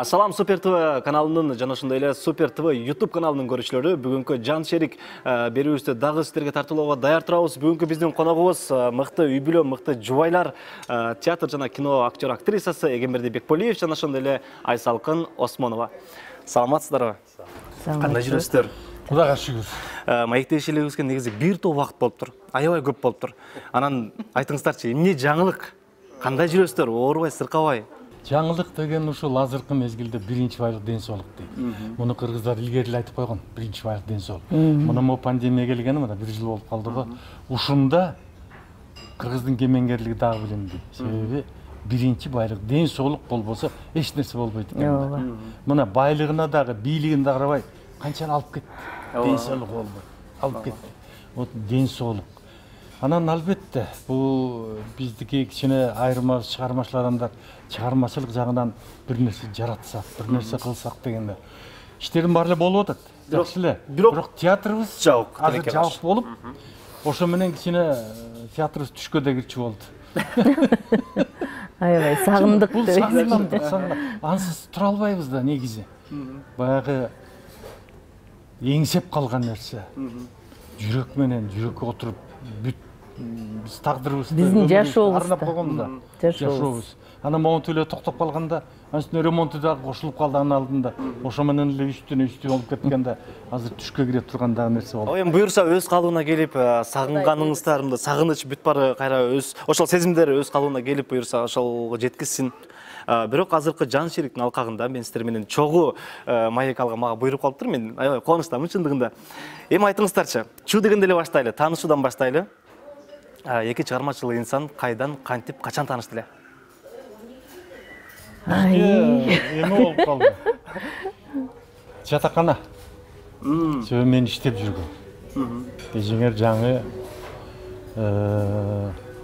Салам Супер ТВ каналынын жана ошондой эле Супер ТВ YouTube каналынын көрүүчүлөрү, бүгүнкү жан шерик берүүбүздү дагы сиздерге тартуулоого даяр турабыз. Бүгүнкү биздин коногубуз мыкты үй бүлө, мыкты жубайлар, театр жана кино актер актрисасы Эгемберди Бекполиев жана ошондой эле Айсалкын Осмонова. Саламатсыздарбы? Кандай жүрөсүздөр? Кудайга шүгүр. Маектешилигибизге негизи бир топ убакыт болуптур. Аябай көп болуптур. Анан айтыңыздарчы, эмне жаңылык? Кандай жүрөсүздөр? Оорубай, сыркабай? Жаңылык деген ушул азыркы мезгилде биринчи байлык ден соолук дейт. Муну кыргыздар илгери эле айтып койгон, биринчи байлык ден соолук. Мына могу пандемия келгени мына 1 жыл болуп калды го. Ушунда кыргыздын кемеңгерлиги дагы билинди. Себеби биринчи байлык ден соолук болбосо эч нерсе болбойт экен. Мына байлыгына дагы, бийлигин дагы карабай, канчаны алып кетти. Ден соолук болбой. Алып кетти. Вот ден соолук. Анан албетте бул биздики кичине айырмасы чыгармачыл адамдар чыгармачылык жагынан бир нерсе жаратсак, бир нерсе кылсак дегенде иштердин баары эле болуп атат. Жакшы эле. Бирок театрыбыз жабык, азыр жабык болуп, ошо менен кичине театрыбыз түшкө да кирчү болду. Аябай сагындык деп. Сагындык. Ансыз тура албайбыз да негизи. Баягы эңсеп калган нерсе. Жүрөк менен жүрөккө отуруп бүт биз тагдырыбызды биздин жашообуз арнап койгонбуз да. Жашообуз. Анан моменту эле токтоп калганда, анын ремонту дагы кошулуп калды анын алдында. Ошо менен эле үстүнө үстү болуп кеткенде азыр түшкө кире турган дагы нерсе болду. Эми буюрса өз калыбына келип, сагынганыңыздар, мында сагыныч бүт баары кайра өз ошол сезимдер өз калыбына келип буюрса ошолго жеткизсин. Бирок азыркы жан шериктин алкагында мен сиздер менен чогуу маек алга мага буйруп калыптыр. Мен аябай кубанычтамын чындыгында. Эми айтыңыздарчы, чуу дегенде эле баштайлы, таанышуудан баштайлы. Эки чыгармачыл инсан кайдан, кантип, качан таанышты эле? Эме болуп калды. Жатакана. Себеби мен иштеп жүргөм. Эжеңер жаңы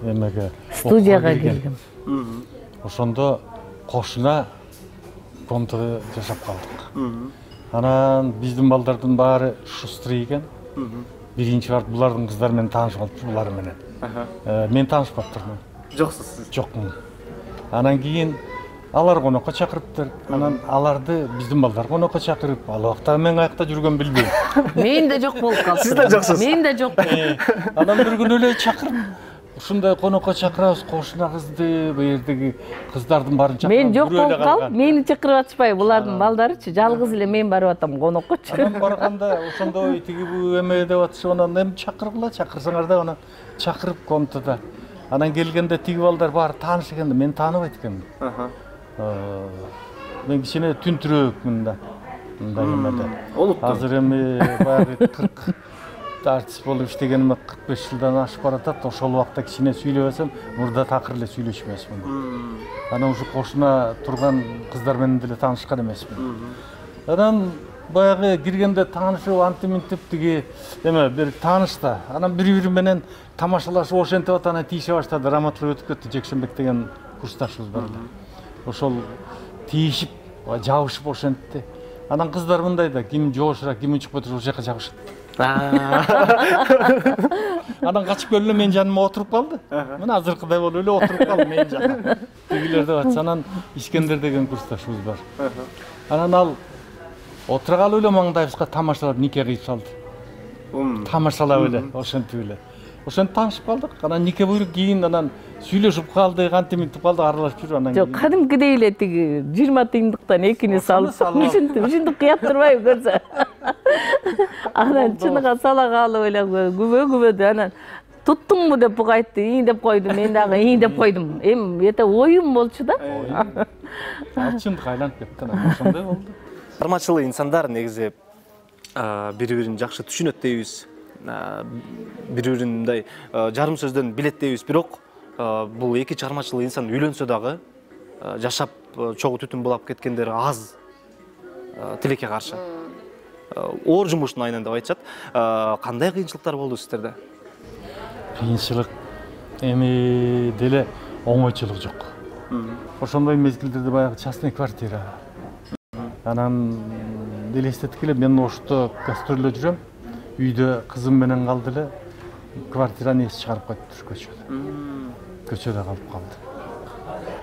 эмеге студияга келдим. Ошондо кошуна комнатада жашап калдык. Анан биздин балдардын баары шустрый экен. Биринчи барып булардын кыздары менен таанышып калыптыр, булар менен. Мен таанышпаптырмын. Жоксуз сиз? Жокмун. Анан кийин алар конокко чакырыптыр. Анан аларды биздин балдар конокко чакырып, ал убакта мен каякта жүргөн билбейм. Мен да жок болуп калдым. Сиз да жоксуз. Мен да жок. Анан бир күнү эле чакырып, ушундай конокко чакырабыз, кошуна кызды, бу жердеги кыздардын баарын чакырып. Мен жок болуп калып, мени чакырып атышпай, булардын балдарычы, жалгыз эле мен барып атам коноккочу. Анан барганда ошондой тиги бу эме деп атышып, анан эми чакыргыла, чакырсаңар да, анан чакырып комнатада. Анан келгенде тиги балдар баары тааныш экен, мен тааныбайт экенмин. Мен кичине түнтүрөөкмүн да. Мындай эмеде. Азыр эми баягы 40 артист болуп иштегениме 45 жылдан ашып баратат. Ошол убакта кичине сүйлөбөсөм, мурда такыр эле сүйлөшүп эмесмин. Анан ушу кошуна турган кыздар менен деле таанышкан эмесмин. Анан баягы киргенде таанышып, антиминтип тиги эме бир таанышта. Анан бири-бири менен тамашалашып ошентип атып, анан тийише баштады. Раматлык өтүп кетти, Жекшенбек деген курсташыбыз бар эле. Ошол тийишип, жабышып ошентти. Анан кыздар мындай да, ким жоошураак, ким унчукпай туруп ошол жака жабышат. Анан качып келип менин жаныма отуруп калды. Мына азыркыдай болуп эле отуруп калды менин жаныма. Тигилер деп атса, анан Искендер деген курсташыбыз бар. Анан ал отура калып эле маңдайыбызга тамашалап нике кыйып салды. Тамашалап эле, ошентип эле. Ошентип таанышып калдык. Анан нике буйруп кийин анан сүйлөшүп калдык, антиминтип калдык, аралашып жүрүп анан. Жок, кадимкидей эле тиги 20 тыйындыктан экини салып, ушинтип кыят турбайбы көрсө. Анан чыныга сала калып эле күбө-күбөдү. Анан туттуңбу деп буга айтты, ии деп койду, мен дагы ии деп койдум. Эми эте оюм болчу да. Чындык айланып кетти, анан ошондой болду. Чыгармачыл инсандар негизи бири-бирин жакшы түшүнөт дейбиз. Бири-бирин мындай жарым сөздөн билет дейбиз. Бирок бул эки чыгармачыл инсан үйлөнсө дагы жашап чогуу түтүн булап кеткендер аз тилекке каршы. Оор жумуштун айынан деп айтышат. Кандай кыйынчылыктар болду сиздерде? Кыйынчылык эми деле оңойчулук жок. Ошондой мезгилдерде баягы частный квартира. Анан деле эстеттик эле, мен Ошто гастролдо жүрөм. Үйдө кызым менен калды эле, квартираны эс чыгарып койду көчөдө. Көчөдө калып калды.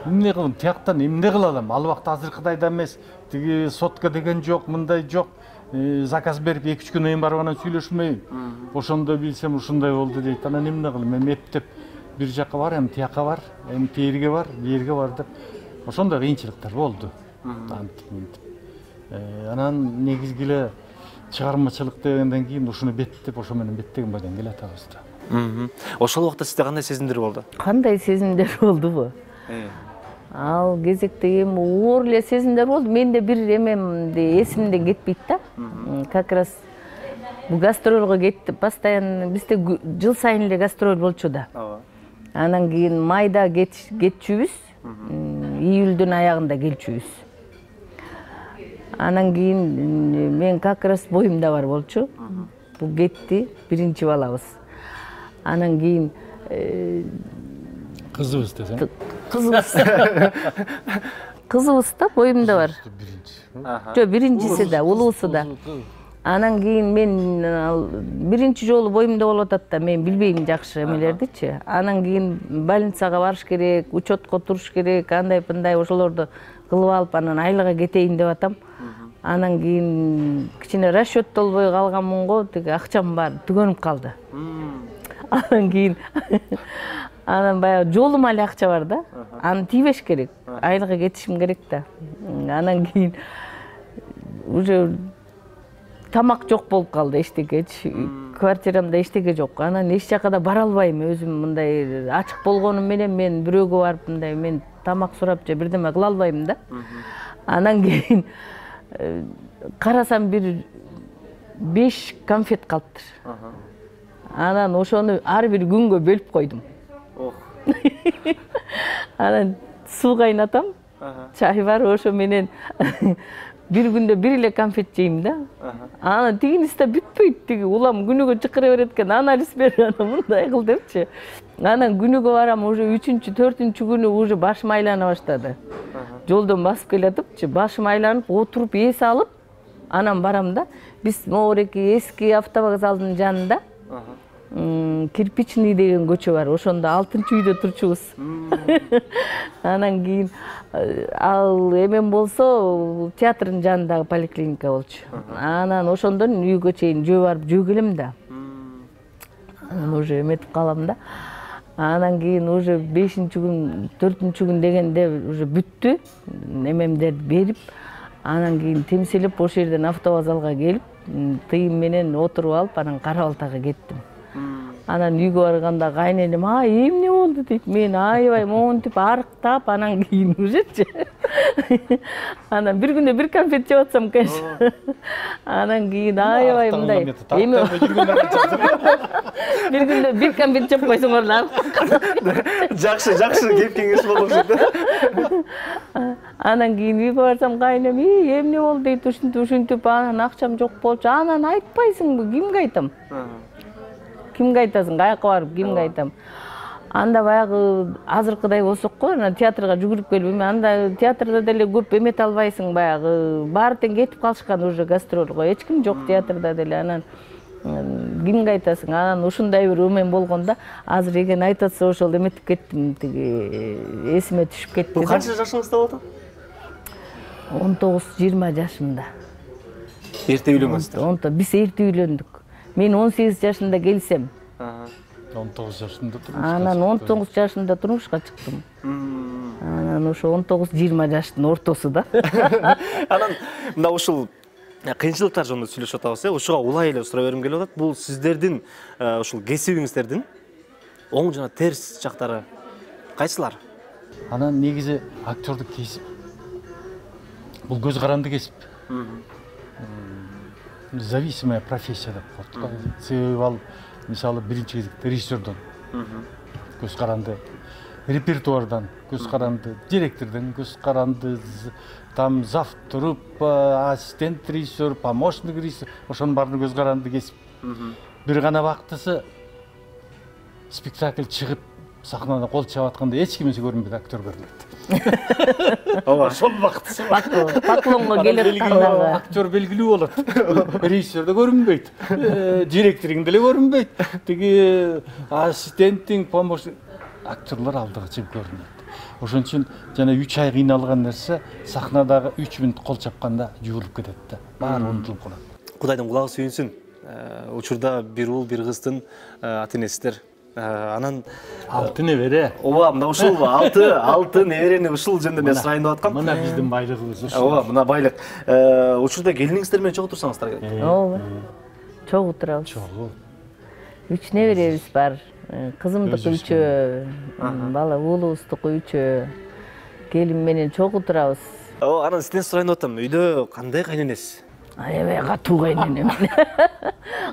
эмне кылам, тияктан эмне кыла алам? Ал убакта азыркыдай да эмес. Тиги сотка деген жок, мындай жок. Заказ берип 2-3 күнөн барып анан сүйлөшмөйм. Ошондо билсем ушундай болду дейт. Анан эмне кылам? Эми эптеп бир жакка бар, эми тияка бар, эми тиерге бар, биерге бар деп. Ошондой кыйынчылыктар болду. Анан негизги эле чыгармачылык дегенден кийин ушуну беттеп, ошо менен беттеген бойдон келатабыз да. Ошол убакта сизде кандай сезимдер болду? Кандай сезимдер болдубу? Ал кезекте эми оор эле сезимдер болду. Менде бир эмемди эсимден кетпейт да. Как раз бу гастролго кеттип, постоянно бизде жыл сайын эле гастроль болчу да. Анан кийин майда кетчүбүз, июлдун аягында келчүбүз. Анан кийин мен как раз боюмда бар болчу. Бу кетти, биринчи балабыз. Анан кийин Кызыбыз десең? Кызыбыз да боюмда бар. Жок, биринчиси да, улуусу да. Анан кийин мен биринчи жолу боюмда болуп атат да, мен билбейм жакшы эмелердичи. Анан кийин больницага барыш керек, учетко туруш керек, андай-мындай ошолорду кылып алып, анан айылга кетейин деп атам. Анан кийин кичине расчет болбой калганмын го, тиги акчам бар, түгөнүп калды. Анан кийин анан баягы жолума эле акча бар да. Аны тийбеш керек. Айылга кетишим керек да. Анан кийин уже тамак жок болуп калды, эчтекечи. Квартирамда эчтеке жок. Анан эч жакка да бара албайм. Өзүм мындай ачык болгонум менен мен бирөөгө барып мындай мен тамак сурап же бирдеме кыла албайм да. Анан кийин карасам бир 5 конфет калыптыр. Анан ошону ар бир күнгө бөлүп койдум. Анан суу кайнатам, чай бар, ошо менен бир күндө бир эле конфет жейм да. Анан тигинisi да бүтпөйт, тиги улам күнүгө чыкыра берет экен, анализ бер, анан мындай кыл депчи. Анан күнүгө барам, уже 3-4 күнү уже башым айлана баштады. Жолдон басып келатыпчы, башым айланып, отуруп эс алып, анан барам да. Биз могуреки эски автовокзалдын жанында Кирпичный деген көчө бар. Ошондо 6-үйдө турчубуз. Анан кийин ал эмен болсо театрдын жанындагы поликлиника болчу. Анан ошондон үйгө чейин жөө барып жөө келем да. Анан уже эметип калам да. Анан кийин уже 5-күн, 4-күн дегенде уже бүттү. Эмемдерди берип, анан кийин темселип ошол жерден автовокзалга келип, тыйым менен отуруп алып, анан Кара Балтага кеттим. Анан үйгө барганда кайненем, эмне болду дейт. Мен аябай монтип арыктап, анан кийин ужечи. Анан бир күндө бир конфет жеп атсам, конечно. Анан кийин аябай мындай. Бир күндө бир конфет жеп койсоңор да. Жакшы кеп кеңеш болуп жатты. Анан кийин үйгө барсам кайнем, эмне болду дейт, ушинтип анан акчам жок болчу. Анан айтпайсыңбы, кимге айтам? Кимге айтасың, каяка барып, кимге айтам? Анда баягы азыркыдай болсокко, анан театрга жүгүрүп келип, анда театрда деле көп эмете албайсың, баягы баары тең кетип калышкан уже гастролго. Эч ким жок театрда деле. Анан кимге айтасың? Анан ушундай бир эмен болгондо, азыр эген айтып атса ошол эметип кеттим, тиги эсиме түшүп кетти. Бул канча жашыңызда болду? 19-20 жашымда. Эрте үйлөнгөнсүздөр. Биз эрте үйлөндүк. Мен 18 жашында келсем. 19 жашында турмушка. Анан 19 жашында турмушка чыктым. Анан ошо 19-20 жаштын ортосу да. Анан мына ушул кыйынчылыктар жөнүндө сүйлөшүп атабыз, ушуга улай эле сурай бергим келип атат. Бул сиздердин ушул кесибиңиздердин оң жана терс жактары кайсылар? Анан негизи актёрдук кесип. Бул көз каранды кесип. Зависимая профессия деп коет. Себеби ал мисалы биринчи кезекте режиссердон көз каранды, репертуардан көз каранды, директордон көз каранды, там зав труппа, ассистент режиссер, помощник режиссер, ошонун баарын көз каранды кесип. Бир гана бактысы спектакль чыгып сахнада кол чаап атканда эч кимиси көрүнбөйт, актер көрүнөт. Ооба, ошол бактысы. Поклонго келип аткандагы актер белгилүү болот. Режиссер да көрүнбөйт. Директориң деле көрүнбөйт. Тиги ассистентиң, помощник актерлор алдыгы чыгып көрүнөт. Ошон үчүн жана 3 ай кыйналган нерсе сахнадагы 3 мүнөт кол чапканда жуулуп кетет да. Баары унутулуп калат. Кудайдын кулагы сүйүнсүн. Учурда бир уул, бир кыздын ата энесиздер. Анан 6 небере. ооба, мына ушул 6 неберени ушул жөнүндө мен сурайын деп аткам. Мына биздин байлыгыбыз ушул. Ооба, мына байлык. Учурда келиниңиздер менен чогуу турсаңыздар керек. Ооба. Чогуу турабыз. Чогуу. 3 неберебиз бар. Кызымдыкы 3, бала уулубуздуку 3. Келин менен чогуу турабыз. Ооба, анан сизден сурайын деп атам. Үйдө кандай кайненеси? Аябай катуу кайненем.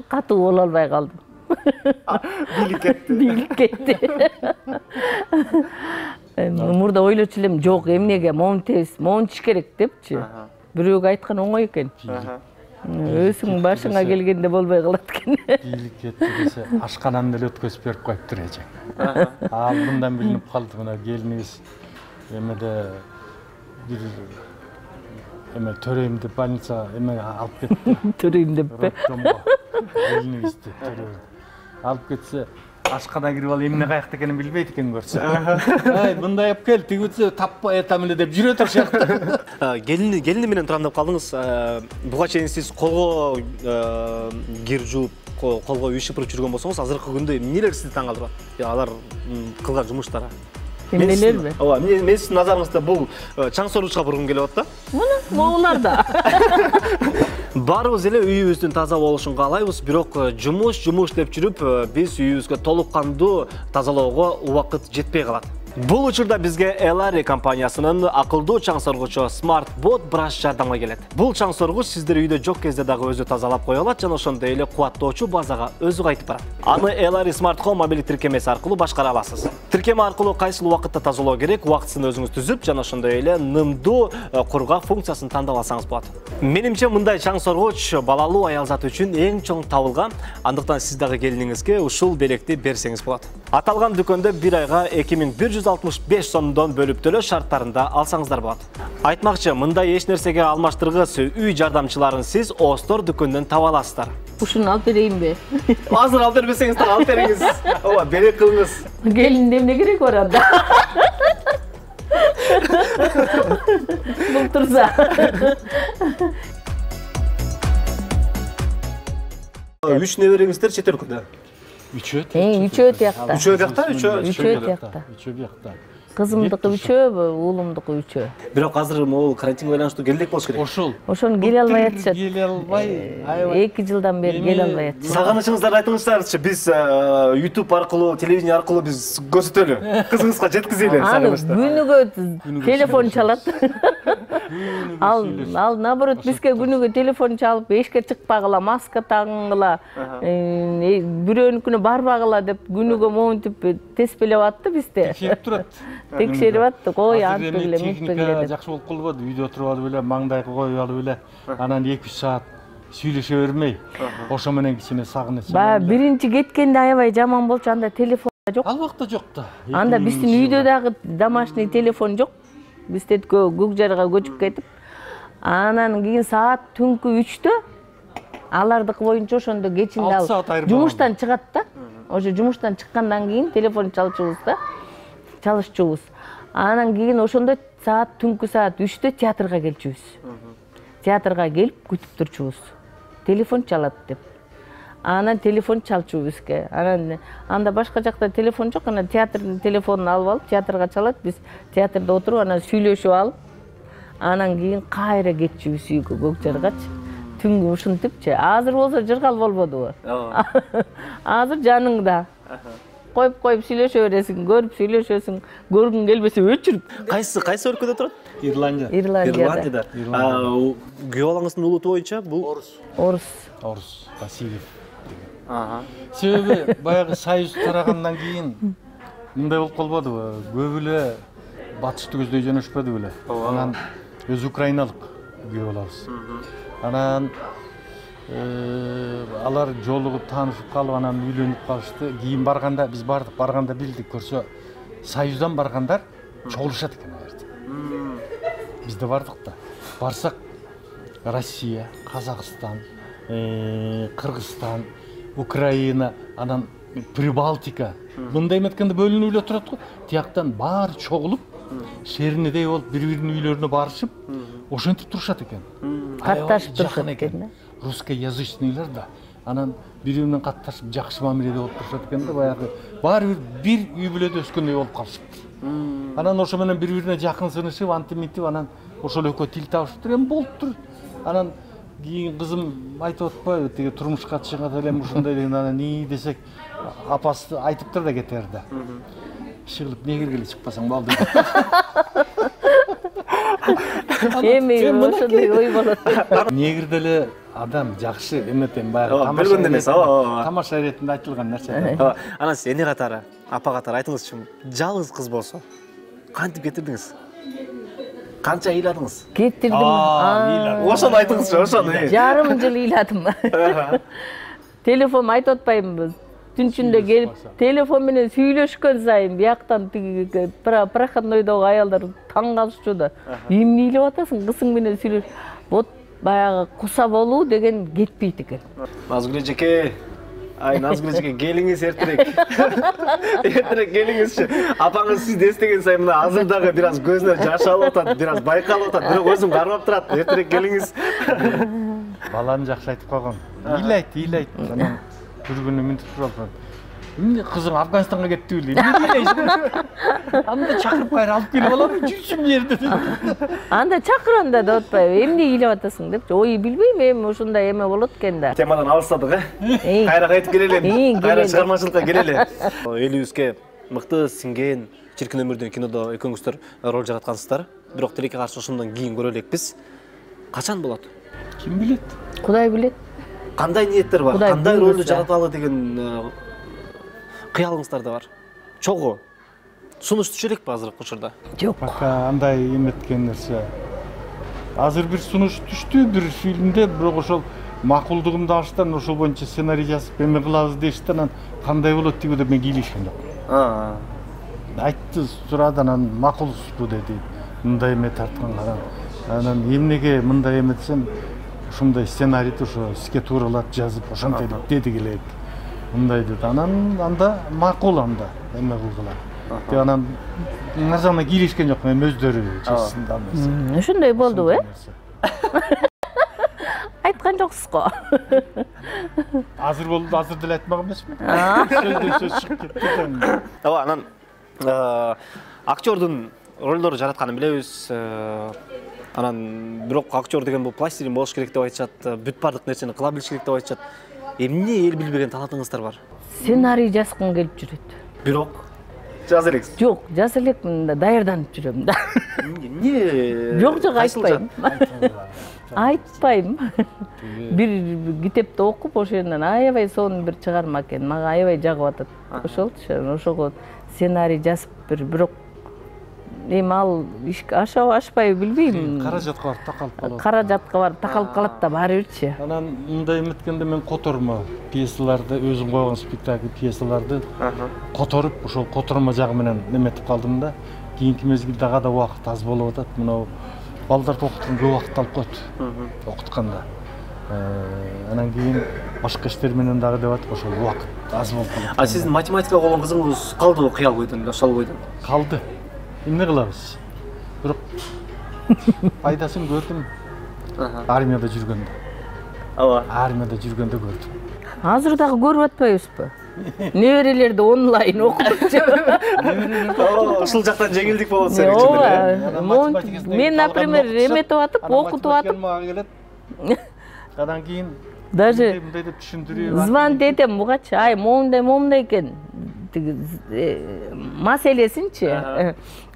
Катуу боло албай калдым. Бийлик кетти. Мурда ойлочу элем, жок, эмнеге момунтиш керек депчи. Бирөөгө айткан оңой экен. Өзүң башыңа келгенде болбой калат экен. Бийлик кетти десе, ашканамды эле өткөзүп берип коюптур эжең. Ал мындан билинип калды, мына келиниңиз эмеде бир төрөйм деп больницага алып кетти. Төрөйм деппи? Келиниңизди алып кетсе, ашкана кирип алып эмне каякта экенин билбейт экен көрсө. Ай, мындай алып кел, тигиси таппай атам эле деп жүрөт ошакта. Келини менен турам деп калдыңыз. Буга чейин сиз колго кир жууп, колго үй шыпырып жүргөн болсоңуз, азыркы күндө эмнелер сизди таң калтырат? Алар кылган жумуштары. Эмнелерби? Ооба, мен сиздин назарыңызда бул чаң соргучка бургум келип атат да. Мына могулар да. Баарыбыз эле үйүбүздүн таза болушун каалайбыз, бирок жумуш деп жүрүп, биз үйүбүзгө толук кандуу тазалоого убакыт жетпей калат. Бул учурда бизге Elari компаниясынын акылдуу чаң соргучу Smart Bot Brush жардамга келет. Бул чаң соргуч сиздер үйдө жок кезде дагы өзү тазалап кое алат жана ошондой эле кубаттоочу базага өзү кайтып барат. Аны Elari Smart Home мобилдик тиркемеси аркылуу башкара аласыз. Тиркеме аркылуу кайсыл убакытта тазалоо керек, убактысын өзүңүз түзүп, жана ошондой эле нымдуу кургак функциясын тандап алсаңыз болот. Менимче мындай чаң соргуч балалуу аялзат үчүн эң чоң табылган, андыктан сиз дагы келиниңизге ушул белекти берсеңиз болот. Аталган дүкөндө бир айга 2165 сомдон бөлүп төлөө шарттарында алсаңыздар болот. Айтмакчы, мындай эч нерсеге алмаштыргыс үй жардамчыларын сиз Остор дүкөндөн таба аласыздар. Ушуну алып берейинби? Азыр алып бербесеңиз так алып бериңиз. Ооба, белек кылыңыз. Келинде эмне керек бар анда? Бул турса. 3 небериңиздер чет өлкөдө. Үчөө тиякта. Үчөө тиякта. Кызымдыкы 3, уулумдуку 3. Бирок азыр могул карантинге байланыштуу келдек болуш керек. Ошону келе албай атышат. Келе албай, 2 жылдан бери келе албай атышат. Сагынычыңыздарды айтыңыздарчы, биз YouTube аркылуу, телевидение аркылуу биз көрсөтөлү. Кызыңызга жеткизели сагынычты. Күнүгө телефон чалат. Ал наоборот бизге күнүгө телефон чалып, эшикке чыкпагыла, маска тагынгыла, бирөөнүкүнө барбагыла деп күнүгө момунтип теспелеп атты бизде. Текшерип турат. Текшерип атты, кой антып эле, мынтып эле. Жакшы болуп калбады, үйдө отуруп алып эле, маңдайга коюп алып эле, анан 2-3 саат сүйлөшө бермей, ошо менен кичине сагыныч. Баягы биринчи кеткенде аябай жаман болчу, анда телефон жок. Албакта жок да. Анда биздин үйдө дагы домашний телефон жок. Биз көк жарга көчүп кетип, анан кийин саат түнкү 3-тө алардыкы боюнча ошондо кечинде ал жумуштан чыгат да. Ошо жумуштан чыккандан кийин телефон чалышчубуз. Анан кийин ошондо түнкү саат 3-тө театрга келчүбүз. Театрга келип күтүп турчубуз. Телефон чалат деп. Анан телефон чалчу бизге. Анан анда башка жакта телефон жок, анан театрдын телефонун алып алып, театрга чалат, биз театрда отуруп, анан сүйлөшүп алып, анан кийин кайра кетчүбүз үйгө, көк жаргачы. Түнгү ушинтипчи. Азыр болсо жыргал болбодубу? Азыр жаныңда. Коюп сүйлөшө бересиң, көрүп сүйлөшөсүң, көргүң келбесе өчүрүп. Кайсы өлкөдө турат? Ирландияда. Күйөө балаңыздын улуту боюнча бул Орус. Васильев. Себеби баягы союз тарагандан кийин мындай болуп калбадыбы? Көп эле батышты көздөй жөнөшпөдү беле. Анан өзү украиналык күйөө балабыз. Анан алар жолугуп таанышып калып, анан үйлөнүп калышты. Кийин барганда биз бардык, барганда билдик, көрсө союздан баргандар чогулушат экен аларда. Биз да бардык да. Барсак Россия, Казакстан, Кыргызстан, Украина, анан Прибалтика. Мындай эметкенде бөлүнүп эле турат го. Тияктан баары чогулуп шеринедей болуп бири биринин үйлөрүнө барышып ошентип турушат экен. Катташып турушат Жакын экен. Русскоязычныйлар да анан бири бири менен катташып жакшы мамиледе болуп турушат экен да, баягы баары бир үй бүлөдө өскөндөй болуп калышыптыр. Анан ошо менен бири бирине жакын сынышып, антимитип, анан ошол экөө тил табышыптыр, эми болуптур. Анан кийин кызым айтып атпайбы, тиги турмушка чыгат элем ушундай деген, анан ии десек, апасы айтыптыр да кетер да. Иши кылып негирге чыкпасаң болду. Эми ошондой ой болот. Негир деле адам жакшы эметен баягы билгенде эмес, тамаша иретинде айтылган нерсе. Анан сиз эне катары, апа катары айтыңызчы, жалгыз кыз болсо кантип кетирдиңиз? Канча ыйладыңыз? Кетирдим. Ошону айтыңызчы, ошону. Жарым жыл ыйладым. Телефон айтып атпаймынбы? Түн ичинде келип, телефон менен сүйлөшкөн сайын бияктан тиги проходнойдогу аялдар таң калышчу да. Эмне ыйлап атасың, кызың менен сүйлөш. Вот баягы куса болуу деген кетпейт экен. Назгүл эжеке, Назгүл эжеке, келиңиз эртерээк. Эртерээк келиңизчи. Апаңыз сизди эстеген сайын мына азыр дагы бир аз көзүнө жаш алып атат, бир аз байкалып атат, бирок өзүн кармап турат. Эртерээк келиңиз. Баланы жакшы айтып койгон. Ыйлайт. Анан бир күнү мынтип туралып, эмне кызың Афганистанга кетти беле? Эмне ыйлайсың? Анда чакырып кайра алып келип алам, жүрсүм жерде. Анда чакырганда деп атпайбы, эмне ыйлап атасың депчи. Ой, билбейм, эми ушундай эме болот экен да. Темадан алыстадык, Кайра кайтып келели. Кайра чыгармачылыкка келели. Элибизге мыкты сиңген чиркин өмүрдөн кинодо экөөңүздөр роль жараткансыздар. Бирок тилекке каршы ошондон кийин көрө элекпиз. Качан болот? Ким билет? Кудай билет. Кандай ниеттер бар? Кандай ролду жараталы деген кыялыңыздар да бар? Чогуу сунуш түшө элекпи азыркы учурда? Жок. Пока андай эметкен нерсе. Азыр бир сунуш түштү бир фильмде, бирок ошол макулдугумду алыштан ошол боюнча сценарий жазып эме кылабыз дешти, анан кандай болот тиги деп мен кийлешкен жок. Айтты, сурады, анан макулсузбу деди. Мындай эме тарткан каран. Анан эмнеге мындай эме десем, ушундай сценарийди ошо иске тууралат жазып ошонтип деди келет. Мындай деди. Анан анда макул анда эме кылгыла. Деп анан нарзана кийлешкен жок, эми өздөрү чечсин да эмес. Ушундай болду, Айткан жоксуз го. Азыр болду, азыр деле айтмак эмесмин. Сөздөн сөз чыгып кетти. Ооба, анан актердун ролдорду жаратканын билебиз. Анан бирок актер деген бул пластилин болуш керек деп айтышат, бүт бардык нерсени кыла билиш керек деп айтышат. Эмне эл билбеген талантыңыздар бар? Сценарий жазгым келип жүрөт. Бирок жаза элексиз. Жок, жаза элекмин да, даярданып жүрөм да. Эмне? Жок, айтпайм. Айтпайм. Бир китепти окуп, ошондон аябай сонун бир чыгарма экен. Мага аябай жагып атат. Ошолчу, ошого сценарий жазып бирок эми ал ашпайбы билбейм. Каражатка барып такалып калат. Каражатка барып такалып калат да баары бирчи. Анан мындай эметкенде мен котормо пьесаларды, өзүм койгон спектакль пьесаларды которуп, ошол котормо жагы менен эметип калдым да. Кийинки мезгилде дагы да убакыт аз болуп атат. Мына балдарды окуткан көп убакыт алып коет. Окутканда. Анан кийин башка иштер менен дагы деп атып, ошол убакыт аз болуп калат. А сиздин математика болгон кызыңыз калдыбы кыял бойдон, ошол бойдон? Калды. Эмне кылабыз? Бирок пайдасын көрдүм. Армияда жүргөндө. Ооба. Армияда жүргөндө көрдүм. Азыр дагы көрүп атпайбызбы? Неберелерди онлайн окутупчу. Ушул жактан жеңилдик болот сен үчүн эле. Мен, например, эметип атып, окутуп атып. Мага келет. Андан кийин даже мындай деп түшүндүрүп. звонить этем бугачы, ай, момундай экен. Маселесинчи.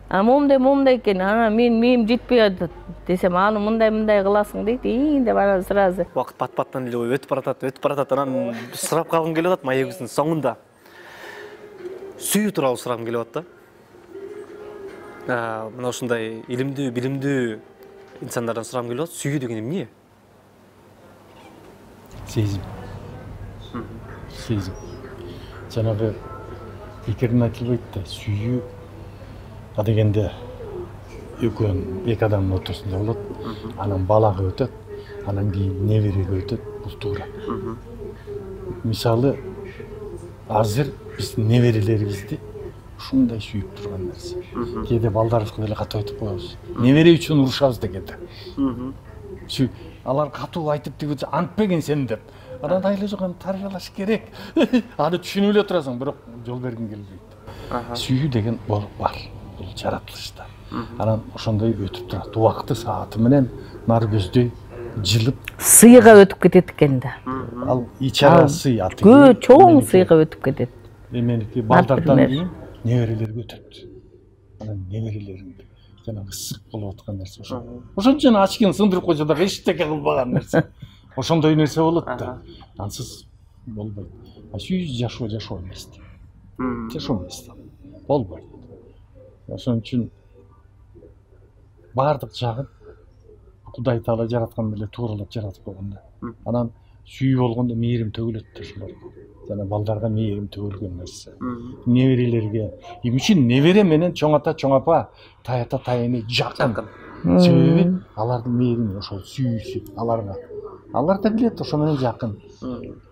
Момундай экен, анан менин жетпей атат десем, аны мындай кыласың дейт, деп анан сразу. Убакыт пат-паттан эле өтүп баратат, анан сурап калгым келип атат маегибиздин соңунда. Сүйүү тууралуу сурагым келип атат да. Мына ушундай илимдүү, билимдүү инсандардан сурагым келип атат. Сүйүү деген эмне? Сезим. Жанагы пикирин айтылбайт да, сүйүү дегенде эки адамдын ортосунда болот, анан балага өтөт, анан кийин небереге өтөт, бул туура. Мисалы, азыр биз неберелерибизди ушундай сүйүп турган нерсе. Кээде балдарыбызга деле катуу айтып коебуз. Небере үчүн урушабыз дегенде. Алар катуу айтып тиги антпеген сен деп. Анан айла жокон тарбиялаш керек. Аны түшүнүп эле турасың, бирок жол бергиң келбейт. Сүйүү деген бар, бул жаратылышта. Анан ошондой өтүп турат. Убакыты сааты менен нар көздөй жылып сыйга өтүп кетет экен да. Ал ичара сый аты. Чоң сыйга өтүп кетет. Меники балдардан кийин неберелерге өтөт. Анан неберелериңди жанагы ысык болуп аткан нерсе ошо. Ошончо ачкын сындырып койсо дагы эчтеке кылбаган нерсе. Ошондой нерсе болот да. Ансыз болбойт. Сүйүү жашоо эмес. Жашоо эмес. Болбойт. Ошон үчүн бардык жагын Кудай Таала жараткан эле тууралап жаратып койгон да. Анан сүйүү болгондо мээрим төгүлөт да ошолор. Жана балдарга мээрим төгүлгөн нерсе. Неберелерге, эмне үчүн небере менен чоң ата, чоң апа, тай ата, тайыны жакын. Себеби алардын мээрими ошол сүйүүсү аларга. Алар да билет ошо менен жакын.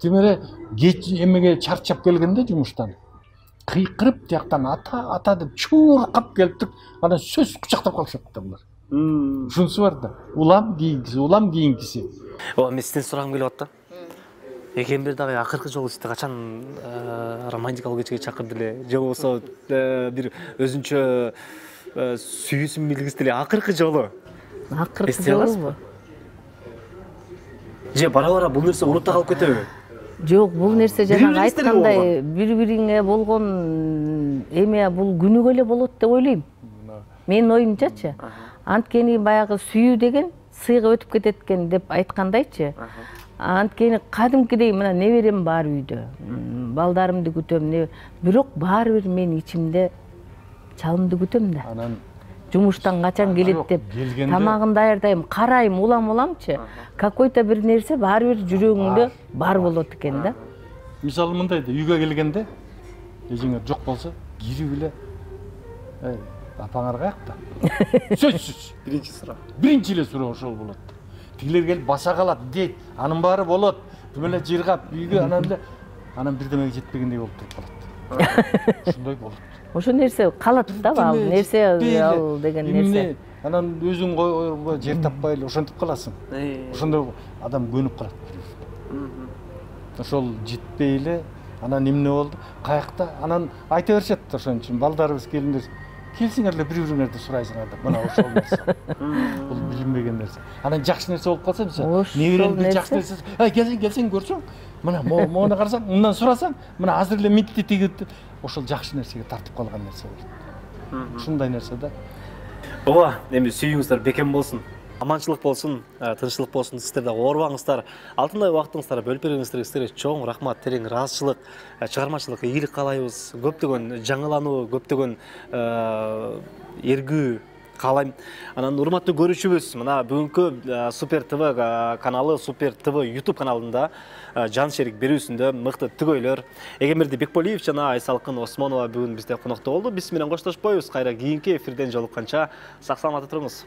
Тимере кеч эмеге чарчап келгенде жумуштан кыйкырып тияктан ата деп чуркап келип, анан сөз кучактап калышат да булар. Ушунусу бар да. Улам кийинкиси. Мен сизден сурагым келип атты. Экембир дагы акыркы жолу сизди качан романтикалык кечке чакырды эле, же болбосо бир өзүнчө сүйүүсүн билгиз деле акыркы жолу? Акыркы жолу. Же бара-бара бул нерсе урутта калып кетеби? Жок, бул нерсе жанагы айткандай бири-бириңе болгон эме бул күнүгө эле болот деп ойлойм. Менин оюмчачы. Анткени баягы сүйүү деген сыйга өтүп кетет экен деп айткандайчы. Анткени кадимкидей мына неберем бар үйдө. Балдарымды күтөм, бирок баары бир мен ичимде чалымды күтөм да. Анан жумуштан качан келет деп тамагын даярдайм, карайм, уламчы. Какой-то бир нерсе баары бир жүрөгүңдө бар болот экен да. Мисалы мындай да, үйгө келгенде эжиңер жок болсо, кирип эле апаңар каякта? Сөзсүз. Биринчи эле суроо ошол болот. Тигилер келип баса калат, дейт, анын баары болот. Тим эле жыргап үйгө анан бирдемеге жетпегендей болуп туруп калат. Ошондой болот. Ошо нерсе калат да, ал нерсе ал деген нерсе. Анан өзүң жер таппай эле ошентип каласың. Ошондо адам көнүп калат. Ошол жетпей эле, анан эмне болду? Каякта? Анан айта беришет ошон үчүн балдарыбыз келиндер келсиңер эле бири-бириңерди сурайсыңар деп. Мына ошол нерсе. Бул билинбеген нерсе. Анан жакшы нерсе болуп калса, мисалы, небереңди жакшы нерсе, келсең көрсөң, мына моуну карасаң, мындан сурасаң, мына азыр эле митти тигип, ошол жакшы нерсеге тартып калган нерсе болот. Ушундай нерсе да. Ооба, эми сүйүүңүздөр бекем болсун. Аманчылык болсун, тынччылык болсун, сиздер да оорубаңыздар. Алтындай убактыңыздарды бөлүп бергениңиздерге сиздерге чоң рахмат, терең ыраазычылык, чыгармачылык ийгилик каалайбыз. Көптөгөн жаңылануу, көптөгөн эргүү каалайм. Анан урматтуу көрүүчүбүз, мына бүгүнкү Супер ТВ каналы, Супер ТВ YouTube каналында жан шерик берүүсүндө мыкты түгөйлөр Эгемберди Бекболиев жана Айсалкын Осмонова бүгүн бизде конокто болду. Биз менен коштошпойбуз. Кайра кийинки эфирден жолукканча сак саламатта туруңуз.